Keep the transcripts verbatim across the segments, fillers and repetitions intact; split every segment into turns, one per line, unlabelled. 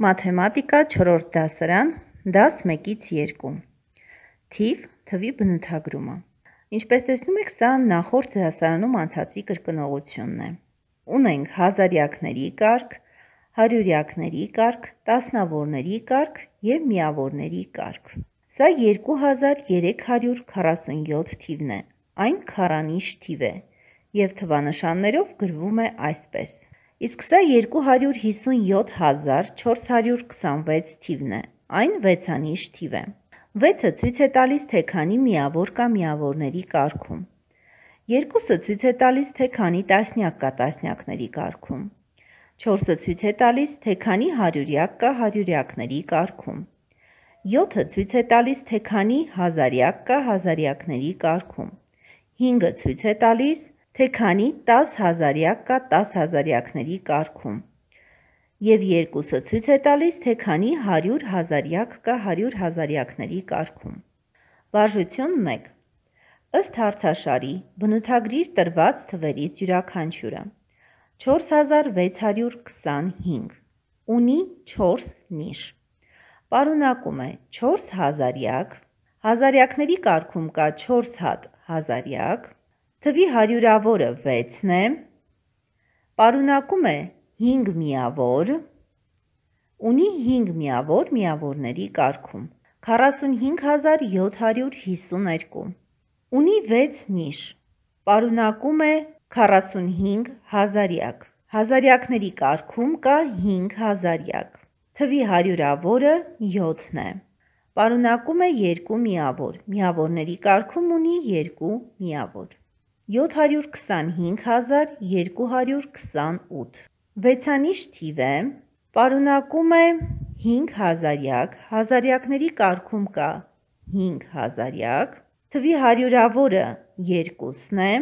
Մաթեմատիկա չորրորդ դասարան, դաս մեկից երկու, թիվ, թվի բնութագրումը։ Ինչպես տեսնում եք, սա նախորդ դասարանում անցածի կրկնողությունն է։ Ունենք հազարյակների կարգ, հարյուրյակների կարգ, տասնավորների կարգ և միավորների կարգ։ Սա երկու հազար երեք հարյուր քառասունյոթ թիվն է, այն քառանիշ թիվ է և թվանշաններով գրվում է այսպես։ Իսկ սա երկու հարյուր հիսունյոթ հազար չորս հարյուր քսանվեց թիվն է, այն վեցանիշ թիվ է։ վեցը ցույց է տալիս, թե քանի միավոր կա միավորների կարգում։ երկուսը ցույց է տալիս, թե քանի տասնյակ կա տասնյակների կարգում։ չորսը ցույց է տալիս, թե քանի հարյուրյակ կա հարյուրյակների կարգում։ յոթը ցույց է տալիս, թե քանի հազարյակ կա հազարյակների կարգում։ հինգը ցույց է տալիս, թե քանի տաս հազարյակ կա տասհազարյակների կարգում։ Եվ երկուսը ցույց է տալիս, թե քանի հարյուր հազարյակ կա հարյուր հազարյակների կարգում։ Վարժություն մեկ. Ըստ հարցաշարի բնութագրիր տրված թվերից յուրաքանչյուրը։ չորս հազար վեց հարյուր քսանհինգ ունի չորս նիշ։ Պարունակում է չորս հազարյակ, հազարյակների կարգում կա չորս հատ հազարյակ, թվի հարյուրավորը վեցն է, պարունակում է հինգ միավոր, ունի հինգ միավոր միավորների կարգում, քառասունհինգ հազար յոթ հարյուր հիսուներկու, ունի վեց նիշ, պարունակում է քառասունհինգ հազարյակ, հազարյակների կարգում կա հինգ հազարյակ, թվի հարյուրավորը յոթն է, պարունակում է երկու միավոր, միավորների կարգում ունի երկու միավոր, յոթ հարյուր քսանհինգ հազար երկու հարյուր քսանութ, վեցանիշ թիվ է, պարունակում է հինգ հազարյակ, հազարյակների կարգում կա հինգ հազարյակ, թվի հարյուրավորը երկուսն է,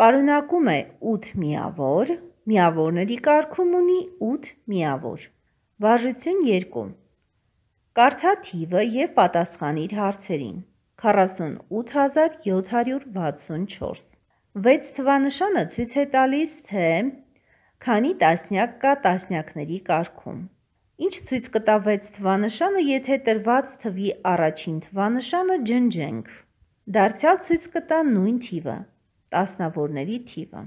պարունակում է ութ միավոր, միավորների կարգում ունի ութ միավոր։ Վարժություն երկու. Կարդա թիվը և պատասխանիր հարցերին։ քառասունութ հազար յոթ հարյուր վաթսունչորս։ վեց թվանշանը ցույց է տալիս, թե քանի տասնյակ կա տասնյակների կարգում։ Ինչ ցույց կտա վեց թվանշանը, եթե տրված թվի առաջին թվանշանը ջնջենք։ Դարձյալ ցույց կտա նույն թիվը, տասնավորների թիվը։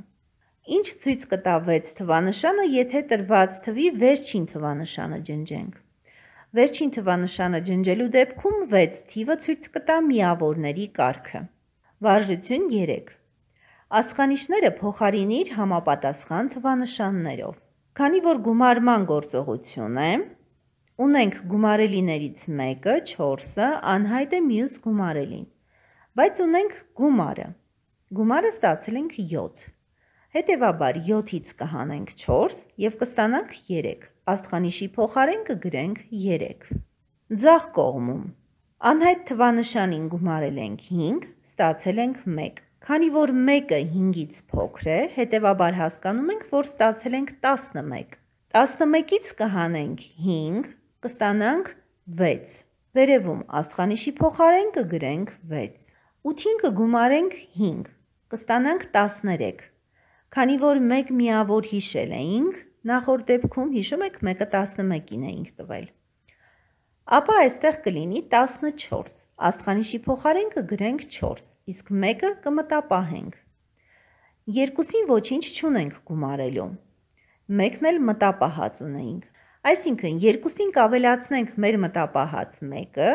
Ինչ ցույց կտա վեց թվանշանը, եթե տրված թվի վերջին թվանշանը ջնջենք։ Վերջին թվանշանը ջնջելու դեպքում վեց թիվը ցույց կտա միավորների կարգը։ Վարժություն երեք. Աստղանիշները փոխարինիր համապատասխան թվանշաններով։ Քանի որ գումարման գործողություն է, ունենք գումարելիներից մեկը, չորսը, անհայտ է մյուս գումարելին, բայց ունենք գումարը։ Գումարը ստացել ենք յոթ։ Հետևաբար յոթից կհանենք չորս և կստանանք երեք։ Աստղանիշի փոխարեն կգրենք երեք։ Ձախ կողմում անհայտ թվանշանին գումարել ենք հինգ, ստացել ենք մեկ։ Քանի որ մեկը հինգից փոքր է, հետևաբար հասկանում ենք, որ ստացել ենք տասնմեկ։ տասնմեկից կհանենք հինգ, կստանանք վեց։ Վերևում աստղանիշի փոխարեն կգրենք վեց։ ութին կգումարենք հինգ, կստանանք տասներեք։ Քանի որ մեկ միավոր հիշել էինք, նախորդ դեպքում հիշում եք մեկը տասնմեկին էինք տվել։ Ապա այստեղ կլինի տասնչորս, աստղանիշի փոխարեն կգրենք չորս, իսկ մեկը կմտապահենք։ Երկուսին ոչինչ չունենք գումարելու, մեկն էլ մտապահած ունեինք, այսինքն երկուսին կավելացնենք մեր մտապահած մեկը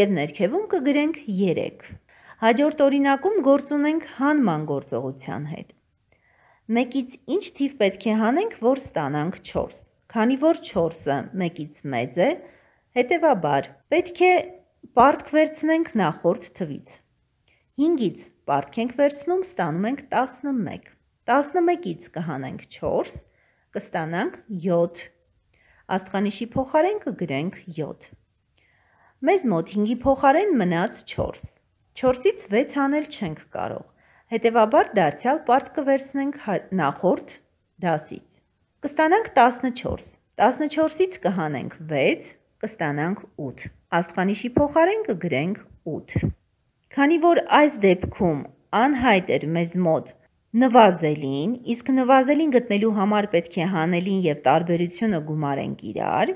և ներքևում կգրենք երեք։ Հաջորդ օրինակում գործ ունենք հանման գործողության հետ։ Մեկից ինչ թիվ պետք է հանենք, որ ստանանք չորս, քանի որ չորսը մեկից մեծ է, հետևաբար պետք է պարտք վերցնենք նախորդ թվից։ հինգից պարտք ենք վերցնում, ստանում ենք տասնմեկ։ տասնմեկից կհանենք չորս, կստանանք յոթ։ Աստղանիշի փոխարեն կգրենք յոթ։ Մեզ մոտ հինգի փոխարեն մնաց չորս։ չորսից վեց հանել չենք կարող, հետևաբար դարձյալ պարտ կվերցնենք նախորդ դասից։ Կստանանք տասնչորս։ տասնչորսից կհանենք վեց, կստանանք ութ։ Աստղանիշի փոխարեն կգրենք ութ։ Քանի որ այս դեպքում անհայտ էր մեզ մոտ նվազելին, իսկ նվազելին գտնելու համար պետք է հանելին և տարբերությունը գումարենք իրար,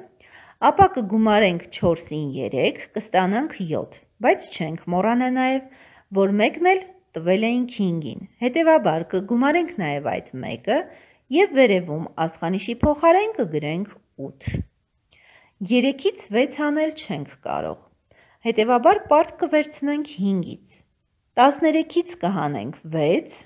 ապա կգումարենք չորսին երեք, կստանանք յոթ, բայց չենք մոռանա նաև, որ մեկն էլ տվել էինք հինգին, հետևաբար կգումարենք նաև այդ մեկը և վերևում աստղանիշի փոխարեն կգրենք ութ։ երեքից վեց անել չենք կարող, հետևաբար պարտ կվերցնենք հինգից, տասներեքից կհանենք վեց,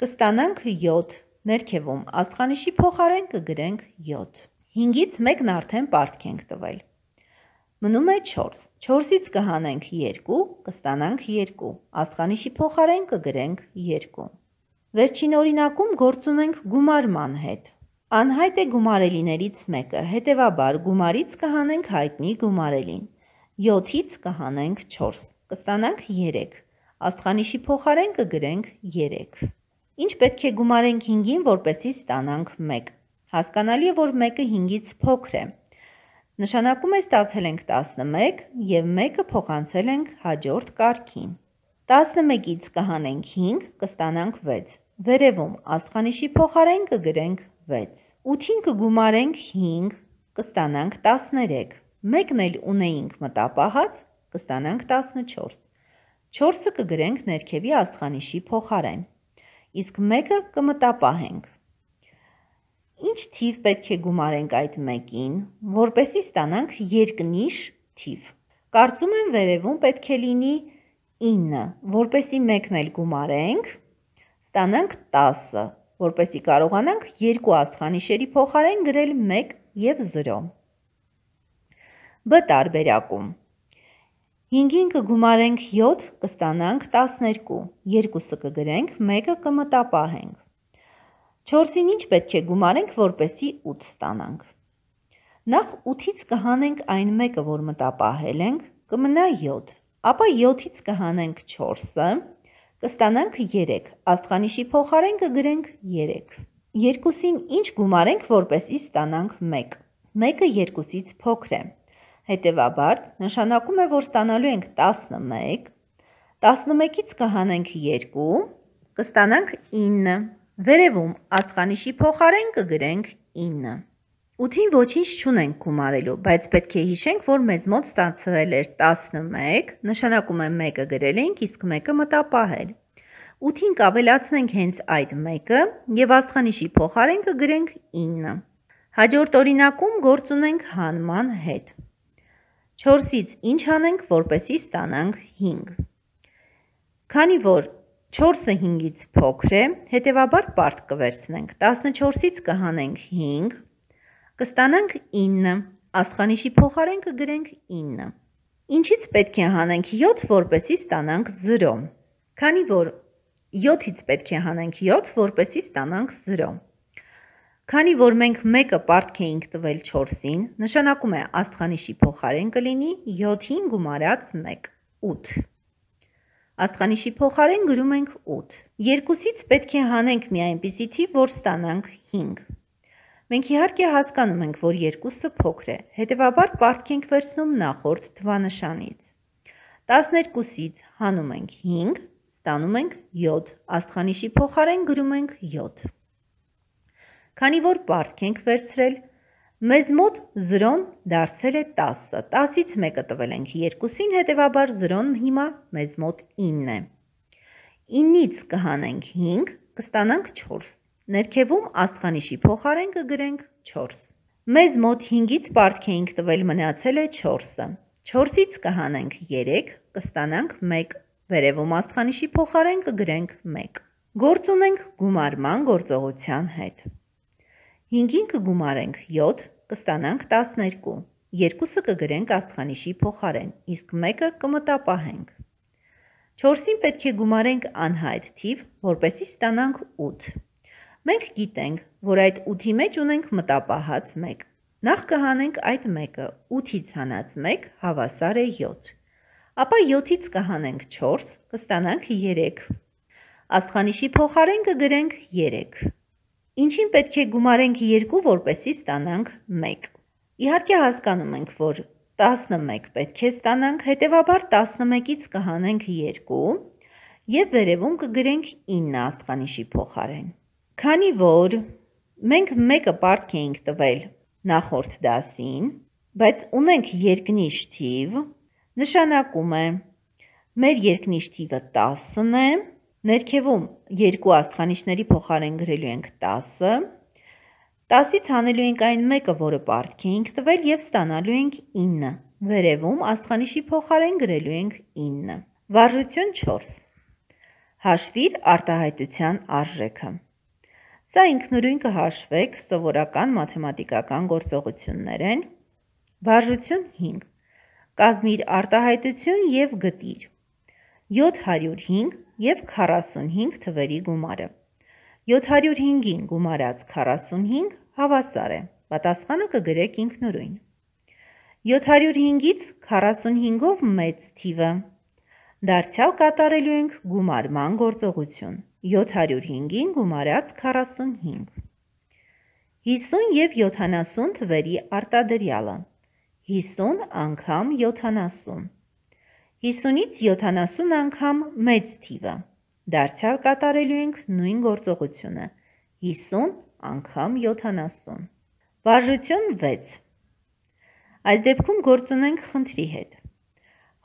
կստանանք յոթ, ներքևում աստղանիշի փոխարեն կգրենք յոթ։ հինգից մեկն արդեն պարտք ենք տվել։ Մնում է չորս, չորսից կհանենք երկու, կստանանք երկու, աստղանիշի փոխարեն կգրենք երկու։ Վերջին օրինակում գործ ունենք գումարման հետ։ Անհայտ է գումարելիներից մեկը, հետևաբար գումարից կհանենք հայտնի գումարելին։ յոթից կհանենք չորս, կստանանք երեք, աստղանիշի փոխարեն կգրենք երեք։ Ինչ պետք է գումարենք հինգին, որպեսզի ստանանք մեկ։ Հասկանալի է, որ մեկը հինգից փոքր է։ Նշանակում է ստացել ենք տասնմեկ և մեկը փոխանցել ենք հաջորդ կարգին։ տասնմեկից կհանենք հինգ, կստանանք վեց։ Վերևում աստղանիշի փոխարեն կգրենք վեց։ ութին կգումարենք հինգ, կստանանք տասներեք։ Մեկն էլ ունեինք մտապահած, կստանանք տասնչորս։ չորսը կգրենք ներքևի աստղանիշի փոխարեն, իսկ մեկը կմտապահենք։ Ինչ թիվ պետք է գումարենք այդ մեկին, որպեսզի ստանանք երկնիշ թիվ։ Կարծում եմ վերևում պետք է լինի ինը, որպեսզի մեկն էլ գումարենք, ստանանք տասը, որպեսզի կարողանանք երկու աստղանիշերի փոխարեն գրել մեկ և զրո։ Բ տարբերակում հինգին կգումարենք յոթ, կստանանք տասներկու, երկուսը կգրենք, մեկը կմտապահենք։ չորսին ինչ պետք է գումարենք, որպեսզի ութ ստանանք։ Նախ ութից կհանենք այն մեկը, որ մտապահել ենք, կմնա յոթ, ապա յոթից կհանենք չորսը, կստանանք երեք, աստղանիշի փոխարեն կգրենք երեք։ երկուսին ինչ գումարենք, որպեսզի ստանանք մեկ։ մեկը երկուսից փոքր է, հետևաբար նշանակում է, որ ստանալու ենք տասնմեկ, տասնմեկից կհանենք երկու, կստանանք ինը, վերևում աստղանիշի փոխարեն կգրենք ինը։ ութին ոչինչ չունենք գումարելու, բայց պետք է հիշենք, որ մեզ մոտ ստացվել էր տասնմեկ, նշանակում է մեկը գրել ենք, իսկ մեկը մտապահել։ ութին կավելացնենք հենց այդ մեկը և աստղանիշի փոխարեն կգրենք ինը։ Հաջորդ օրինակում գործ ունենք հանման հետ։ չորսից ինչ անենք, որպեսզի ստանանք հինգ։ Քանի որ չորսը հինգից փոքր է, հետևաբար պարտ կվերցնենք, տասնչորսից կհանենք հինգ, կստանանք ինը, աստղանիշի փոխարեն կգրենք ինը։ Ինչից պետք է հանենք յոթ, որպեսզի ստանանք զրո։ Քանի որ յոթից պետք է հանենք յոթ, որպեսզի ստանանք զրո։ Քանի որ մենք մեկը պարտք էինք տվել չորսին, նշանակում է աստղանիշի փոխարեն կլինի յոթին գումարած մեկ, ութ։ Աստղանիշի փոխարեն գրում ենք ութ։ երկուսից պետք է հանենք մի այնպիսի թիվ, որ ստանանք հինգ։ Մենք իհարկե հասկանում ենք, որ երկուսը փոքր է, հետևաբար պարտք ենք վերցնում նախորդ թվանշանից։ տասներկուսից հանում ենք հինգ, ստանում ենք յոթ, աստղանիշի փոխարեն գրում ենք յոթ։ Քանի որ պարտք ենք վերցրել, մեզ մոտ զրոն դարձել է տասը, տասից մեկը տվել ենք երկուսին, հետևաբար զրոն հիմա մեզ մոտ ինն է։ ինից կհանենք հինգ, կստանանք չորս, ներքևում աստղանիշի փոխարեն կգրենք չորս։ Մեզ մոտ հինգից պարտք էինք տվել, մնացել է չորսը, չորսից կհանենք երեք, կստանանք մեկ, վերևում աստղանիշի փոխարեն կգրենք մեկ։ Գործ ունենք գումարման գործողության հետ։ հինգին կգումարենք յոթ, կստանանք տասներկու, երկուսը կգրենք աստղանիշի փոխարեն, իսկ մեկը կմտապահենք։ չորսին պետք է գումարենք անհայտ թիվ, որպեսզի ստանանք ութ։ Մենք գիտենք, որ այդ ութի մեջ ունենք մտապահած մեկ։ Նախ կհանենք այդ մեկը, ութից հանած մեկ հավասար է յոթ։ Ապա յոթից կհանենք չորս, կստանանք երեք։ Աստղանիշի փոխարեն կգրենք երեք։ Ինչին պետք է գումարենք երկու, որպեսզի ստանանք մեկ։ Իհարկե հասկանում ենք, որ տասնմեկ պետք է ստանանք, հետևաբար տասնմեկից կհանենք երկու և վերևում կգրենք ինը աստղանիշի փոխարեն։ Քանի որ մենք մեկը պարտք էինք տվել նախորդ դասին, բայց ունենք երկնիշ թիվ, նշանակում է մեր երկնիշ թիվը տասն է, ներքևում երկու աստղանիշների փոխարեն գրելու ենք տասը, տասից հանելու ենք այն մեկը, որը պարտքի ենք տվել և ստանալու ենք ինը, վերևում աստղանիշի փոխարեն գրելու ենք ինը։ Վարժություն չորս. հաշվիր արտահայտության արժեքը։ Սա ինքնուրույն կհաշվեք, սովորական մաթեմատիկական գործողություններ են։ Վարժություն հինգ. կազմիր արտահայտություն և գտիր յոթ հարյուր հինգ և քառասունհինգ թվերի գումարը։ յոթ հարյուր հինգին գումարած քառասունհինգ հավասար է, պատասխանը կգրեք ինքնուրույն։ յոթ հարյուր հինգից քառասունհինգով մեծ թիվը, դարձյալ կատարելու ենք գումարման գործողություն, յոթ հարյուր հինգին գումարած քառասունհինգ։ հիսուն և յոթանասուն թվերի արտադրյալը, հիսուն անգամ յոթանասուն, հիսունից յոթանասուն անգամ մեծ թիվը, դարձյալ կատարելու ենք նույն գործողությունը, հիսուն անգամ յոթանասուն։ Վարժություն վեց. Այս դեպքում գործ ունենք խնդրի հետ։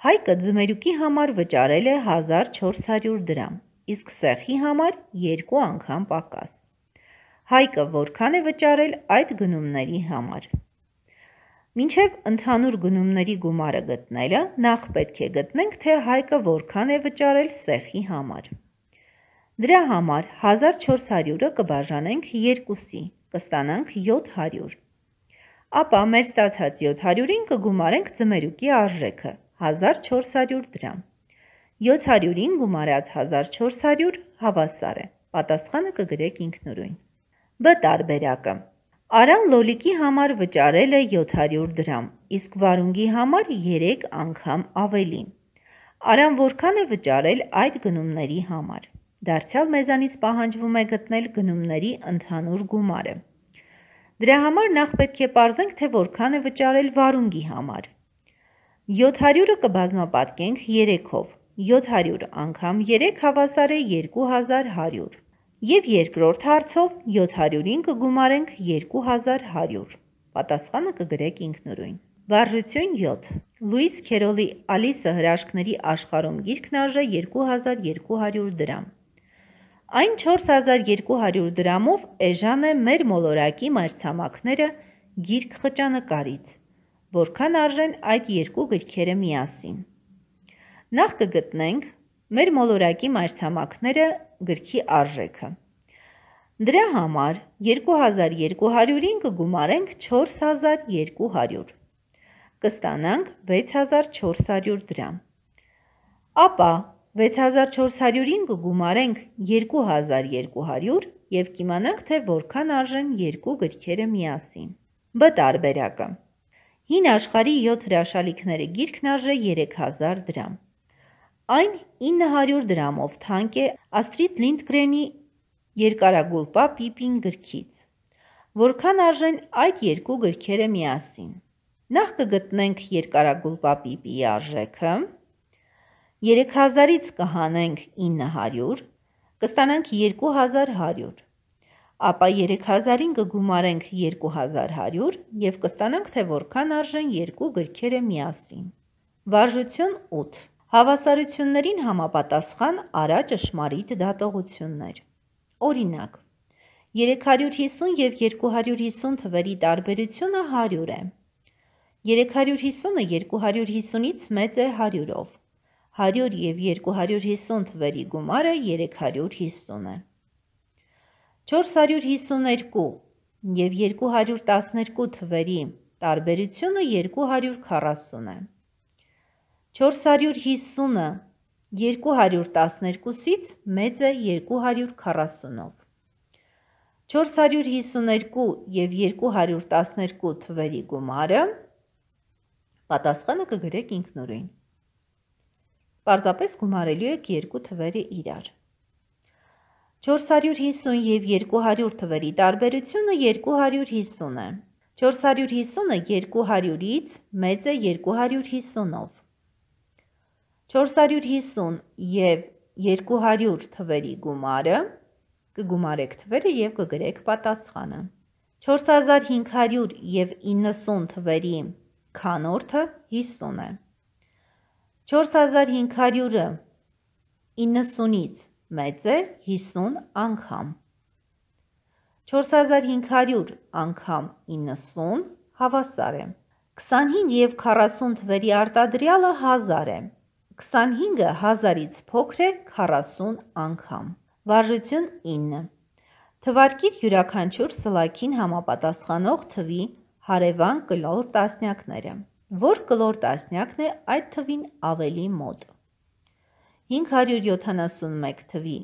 Հայկը ձմերուկի համար վճարել է հազար չորս հարյուր դրամ, իսկ սեղի համար երկու անգամ պակաս։ Հայկը որքան է վճարել այդ գնումների համար։ Մինչև ընդհանուր գնումների գումարը գտնելը, նախ պետք է գտնենք, թե Հայկը որքան է վճարել սեղի համար։ Դրա համար հազար չորս հարյուրը կբաժանենք երկուսի, կստանանք յոթ հարյուր։ Ապա մեր ստացած յոթ հարյուրին կգումարենք ձմերուկի արժեքը, հազար չորս հարյուր դրամ։ յոթ հարյուրին գումարած հազար չորս հարյուր հավասար է, պատասխանը կգրեք ինքնուրույն։ Բ տարբերակը. Արան լոլիկի համար վճարել է յոթ հարյուր դրամ, իսկ վարունգի համար երեք անգամ ավելի։ Արան որքան է վճարել այդ գնումների համար։ Դարձյալ մեզանից պահանջվում է գտնել գնումների ընդհանուր գումարը։ Դրա համար նախ պետք է պարզենք, թե որքան է վճարել վարունգի համար։ յոթ հարյուրը կբազմապատկենք երեքով, յոթ հարյուր անգամ երեք հավասար է երկու հազար հարյուր։ Եվ երկրորդ հարցով յոթ հարյուրին կգումարենք երկու հազար հարյուր, պատասխանը կգրեք ինքնուրույն։ Վարժություն յոթ. Լուիս Քերոլի Ալիսը հրաշքների աշխարհում գիրքն արժե երկու հազար երկու հարյուր դրամ։ Այն չորս հազար երկու հարյուր դրամով էժան է մեր մոլորակի մայրցամաքները գիրք խճանկարից, որքան արժեն այդ երկու գրքերը միասին։ Նախ կգտնենք մեր մոլորակի մայրցամաքները գրքի արժեքը։ Դրա համար երկու հազար երկու հարյուրին կգումարենք չորս հազար երկու հարյուր, կստանանք վեց հազար չորս հարյուր դրամ։ Ապա վեց հազար չորս հարյուրին կգումարենք երկու հազար երկու հարյուր և կիմանանք, թե որքան արժեն երկու գրքերը միասին։ Բ տարբերակը. Հին աշխարհի յոթ հրաշալիքները գիրքն արժե երեք հազար դրամ։ Այն ինը հարյուր դրամով թանկ է Աստրիդ Լինդգրենի երկարագուլպա Պիպին գրքից։ Որքան արժեն այդ երկու գրքերը միասին։ Նախ կգտնենք երկարագուլպա Պիպիի արժեքը, երեք հազարից կհանենք ինը հարյուր, կստանանք երկու հազար հարյուր, ապա երեք հազարին կգումարենք երկու հազար հարյուր և կստանանք, թե որքան արժեն երկու գրքերը միասին։ Վարժություն ութ. Հավասարություններին համապատասխան արա ճշմարիտ դատողություններ։ Օրինակ, երեք հարյուր հիսուն և երկու հարյուր հիսուն թվերի տարբերությունը հարյուր է։ երեք հարյուր հիսունը երկու հարյուր հիսունից մեծ է հարյուրով։ հարյուր և երկու հարյուր հիսուն թվերի գումարը երեք հարյուր հիսուն է։ չորս հարյուր հիսուներկու և երկու հարյուր տասներկու թվերի տարբերությունը երկու հարյուր քառասուն է։ չորս հարյուր հիսունը երկու հարյուր տասներկուսից մեծ է երկու հարյուր քառասունով։ չորս հարյուր հիսուներկու և երկու հարյուր տասներկու թվերի գումարը, պատասխանը կգրեք ինքնուրույն։ Պարզապես գումարելու եք երկու թվերը իրար։ չորս հարյուր հիսուն և երկու հարյուր թվերի տարբերությունը երկու հարյուր հիսուն է։ չորս հարյուր հիսունը երկու հարյուրից մեծ է երկու հարյուր հիսունով։ չորս հարյուր հիսուն և երկու հարյուր թվերի գումարը, կգումարեք թվերը և կգրեք պատասխանը։ չորս հազար հինգ հարյուր և իննսուն թվերի քանորդը հիսուն է։ չորս հազար հինգ հարյուրը իննսունից մեծ է հիսուն անգամ։ չորս հազար հինգ հարյուր անգամ իննսուն հավասար է։ քսանհինգ և քառասուն թվերի արտադրյալը հազար է։ քսանհինգը հազարից փոքր է քառասուն անգամ։ Վարժություն ինը։ Թվարկիր յուրաքանչյուր սլաքին համապատասխանող թվի հարևան կլոր տասնյակները։ Որ կլոր տասնյակն է այդ թվին ավելի մոտ։ հինգ հարյուր յոթանասունմեկ թվի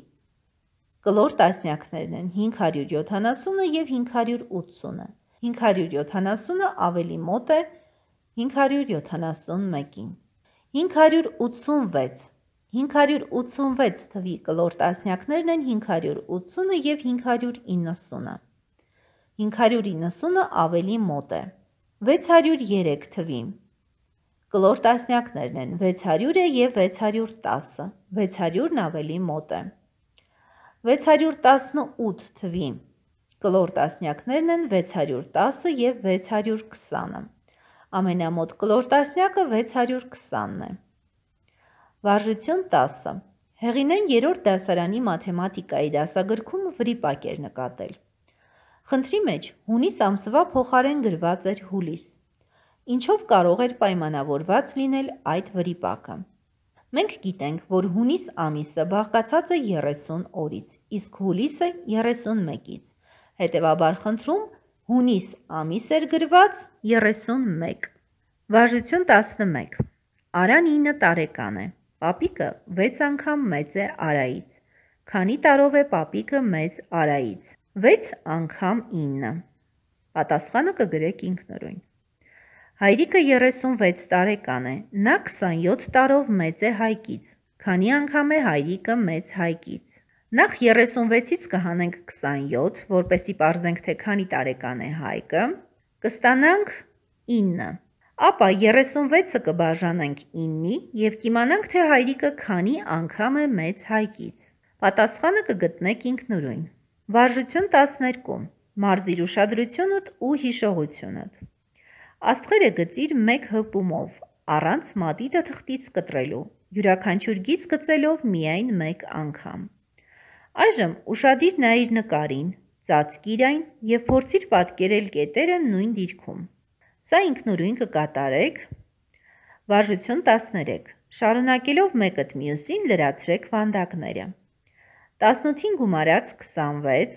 կլոր տասնյակներն են հինգ հարյուր յոթանասունը և հինգ հարյուր ութսունը։ հինգ հարյուր յոթանասունը ավելի մոտ է հինգ հարյուր յոթանասունմեկին։ հինգ հարյուր ութսունվեց հինգ հարյուր ութսունվեց թվի կլոր տասնյակներն են հինգ հարյուր ութսունը և հինգ հարյուր իննսունը։ հինգ հարյուր իննսունը ավելի մոտ է։ վեց հարյուր երեք թվի կլոր տասնյակներն են վեց հարյուրը և վեց հարյուր տասը, վեց հարյուրն ավելի մոտ է։ վեց հարյուր տասնութ թվի կլոր տասնյակներն են վեց հարյուր տասը և վեց հարյուր քսանը։ Ամենամոտ կլոր տասնյակը վեց հարյուր քսանն է։ Վարժություն տասը։ Հեղինեն երրորդ դասարանի մաթեմատիկայի դասագրքում վրիպակ էր նկատել։ Խնդրի մեջ հունիս ամսվա փոխարեն գրված էր հուլիս։ Ինչով կարող էր պայմանավորված լինել այդ վրիպակը։ Մենք գիտենք, որ հունիս ամիսը բաղկացած է երեսուն օրից, իսկ հուլիսը երեսունմեկից։ Հետևաբար խնդրում հունիս ամիս էր գրված երեսունմեկ։ Վարժություն տասնմեկ։ Արան ինը տարեկան է։ Պապիկը վեց անգամ մեծ է Արայից։ Քանի տարով է պապիկը մեծ Արայից։ վեց անգամ ինը։ Պատասխանը կգրեք ինքնուրույն։ Հայրիկը երեսունվեց տարեկան է, նա քսանյոթ տարով մեծ է Հայկից, քանի անգամ է հայրիկը մեծ Հայկից։ Նախ երեսունվեցից կհանենք քսանյոթ, որպեսզի պարզենք, թե քանի տարեկան է Հայկը, կստանանք ինը, ապա երեսունվեցը կբաժանենք իննի և կիմանանք, թե հայրիկը քանի անգամ է մեծ Հայկից։ Պատասխանը կգտնեք ինքնուրույն։ Վարժություն տասներկու։ Մարզիր ուշադրությունդ ու հիշողությունդ։ Աստղերը գծիր մեկ հպումով, առանց մատիտը թղթից կտրելու, յուրաքանչյուր գիծ գծելով միայն մեկ անգամ։ Այժմ ուշադիր նայիր նկարին, ծածկիր այն և փորձիր պատկերել կետերը նույն դիրքում։ Սա ինքնուրույն կկատարեք։ Վարժություն տասներեք։ Շարունակելով մեկըդ մյուսին լրացրեք վանդակները։ տասնութին գումարած քսանվեց,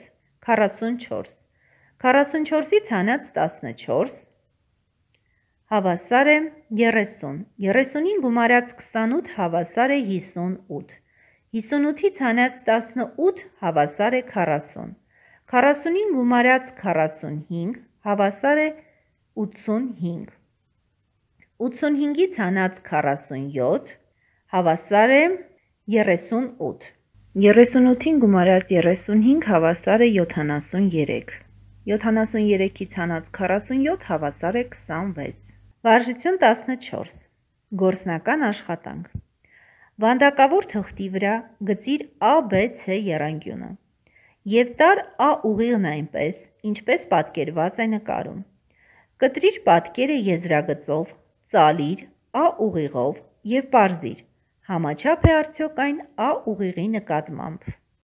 քառասունչորս, քառասունչորսից հանած տասնչորս, հավասար է երեսուն, երեսունին գումարած քսանութ հավասար է հիսունութ, հիսունութից հանած տասնութ հավասար է քառասուն, քառասունին գումարած քառասունհինգ հավասար է ութսունհինգ, ութսունհինգից հանած քառասունյոթ հավասար է երեսունութ, երեսունութին գումարած երեսունհինգ հավասար է յոթանասուներեք, յոթանասուներեքից հանած քառասունյոթ հավասար է քսանվեց։ Վարժություն տասնչորս։ Գործնական աշխատանք։ Վանդակավոր թղթի վրա գծիր A, B, C եռանկյունը և տար A ուղիղն այնպես, ինչպես պատկերված է նկարում։ Կտրիր պատկերը եզրագծով, ծալիր A ուղիղով և պարզիր, համաչափ է արդյոք այն A ուղիղի նկատմամբ։